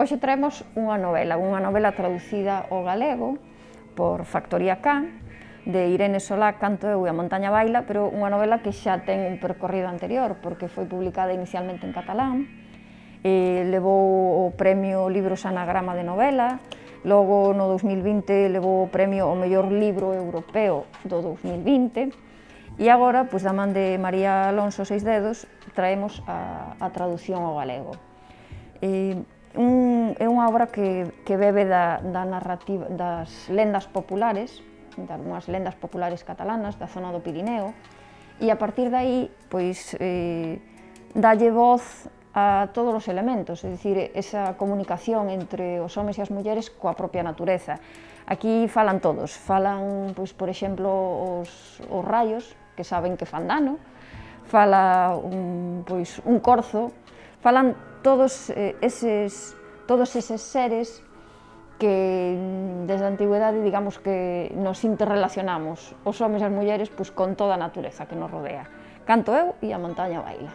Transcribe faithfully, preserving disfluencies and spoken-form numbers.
Hoxe traemos unha novela, unha novela traducida ao galego por Factoría K, de Irene Solá, Canto eu e a montaña baila, pero unha novela que xa ten un percorrido anterior, porque foi publicada inicialmente en catalán, e levou o premio Libros Anagrama de novela, logo no dous mil vinte levou o premio ao mellor libro europeo do dous mil vinte, e agora, pois, da man de María Alonso Seisdedos, traemos a, a traducción ao galego. E, un, é unha obra que, que bebe da, da narrativa, das lendas populares, de algunhas lendas populares catalanas da zona do Pirineo, e a partir de aí, pois, eh, dalle voz a todos os elementos, é dicir, esa comunicación entre os homes e as mulleres coa propia natureza. Aquí falan todos, falan, pois, por exemplo, os, os raios, que saben que fan dano, fala un, pois, un corzo, falan todos eses, todos eses seres que desde a antigüedade, digamos, que nos interrelacionamos, os homes e as mulleres, pois, con toda a natureza que nos rodea. Canto eu e a montaña baila.